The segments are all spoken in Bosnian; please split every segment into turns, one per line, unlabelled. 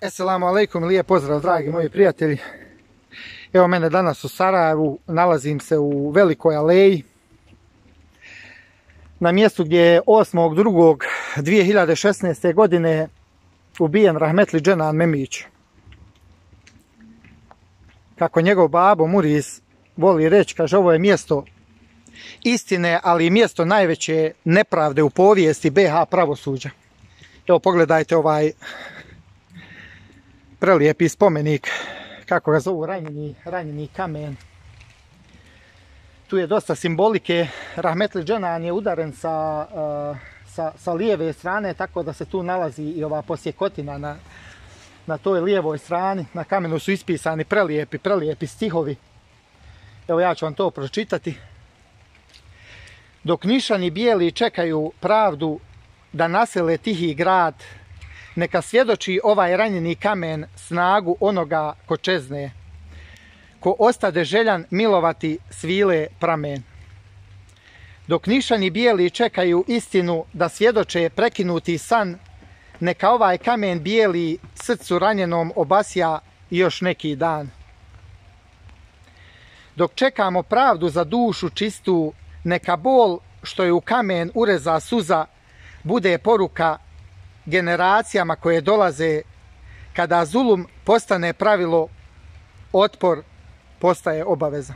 Esselamu alaikum, lijep pozdrav dragi moji prijatelji. Evo mene danas u Sarajevu, nalazim se u Velikoj aleji, na mjestu gdje je 8.2.2016. godine ubijen rahmetli Dženan Memić. Kako njegov babo Muriz voli reći, kaže, ovo je mjesto istine, ali i mjesto najveće nepravde u povijesti BiH pravosuđa. Evo pogledajte ovaj prelijepi spomenik, kako ga zovu, ranjeni kamen. Tu je dosta simbolike. Rahmetli Dženan je udaren sa lijeve strane, tako da se tu nalazi i ova posjekotina na toj lijevoj strani. Na kamenu su ispisani prelijepi stihovi. Evo ja ću vam to pročitati. Dok Nišani bijeli čekaju pravdu da nasele tihi grad, neka svjedoči ovaj ranjeni kamen snagu onoga ko čezne, ko ostade željan milovati svile pramen. Dok Nišani bijeli čekaju istinu da svjedoče prekinuti san, neka ovaj kamen bijeli srcu ranjenom obasja još neki dan. Dok čekamo pravdu za dušu čistu, neka bol što je u kamen ureza suza bude poruka generacijama koje dolaze. Kada zulum postane pravilo, otpor postaje obaveza.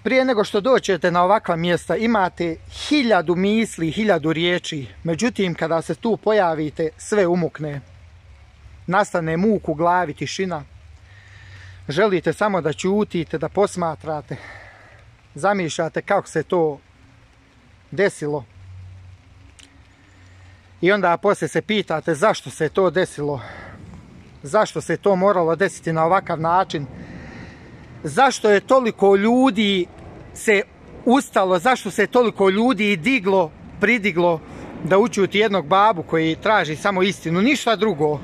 Prije nego što dođete na ovakva mjesta imate 1000 misli, 1000 riječi. Međutim, kada se tu pojavite, sve umukne. Nastane muk u glavi, tišina. Želite samo da ćutite, da posmatrate. Zamišljate kako se to desilo. I onda poslije se pitate zašto se to desilo. Zašto se to moralo desiti na ovakav način. Zašto je toliko ljudi se ustalo, zašto se toliko ljudi pridiglo da učuti jednog babu koji traži samo istinu, ništa drugo.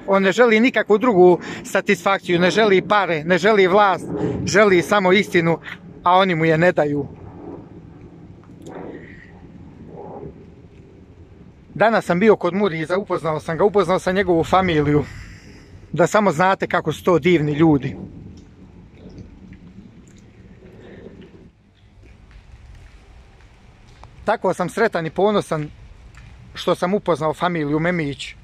On ne želi nikakvu drugu satisfakciju, ne želi pare, ne želi vlast, želi samo istinu, a oni mu je ne daju. Danas sam bio kod Muriza, upoznao sam njegovu familiju, da samo znate kako su to divni ljudi. Tako sam sretan i ponosan što sam upoznao familiju Memić.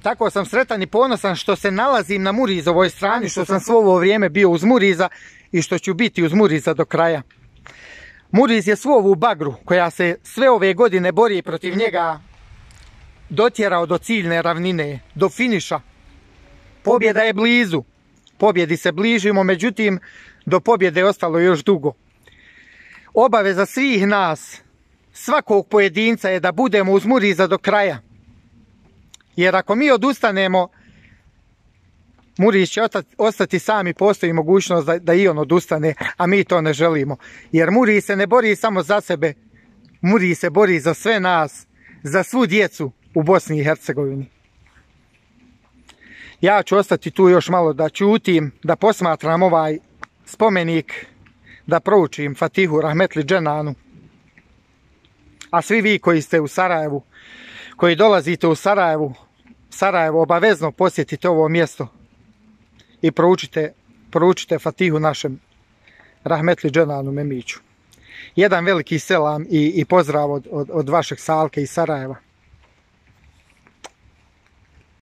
Tako sam sretan i ponosan što se nalazim na Murizovoj strani, što sam svo ovo vrijeme bio uz Muriza i što ću biti uz Muriza do kraja. Muriz je svu ovu bagru koja se sve ove godine bori protiv njega dotjerao do ciljne ravnine, do finiša. Pobjeda je blizu. Pobjedi se bližimo, međutim, do pobjede je ostalo još dugo. Obaveza svih nas, svakog pojedinca, je da budemo uz Muriza do kraja. Jer ako mi odustanemo, Muriz će ostati sam i postoji mogućnost da i on odustane, a mi to ne želimo. Jer Muriz se ne bori samo za sebe, Muriz se bori za sve nas, za svu djecu u Bosni i Hercegovini. Ja ću ostati tu još malo da ćutim, da posmatram ovaj spomenik, da proučim Fatihu rahmetli Dženanu. A svi vi koji ste u Sarajevu, koji dolazite u Sarajevo, obavezno posjetite ovo mjesto i proučite Fatihu našem rahmetli Dženanu Memiću. Jedan veliki selam i pozdrav od vašeg Salke iz Sarajeva.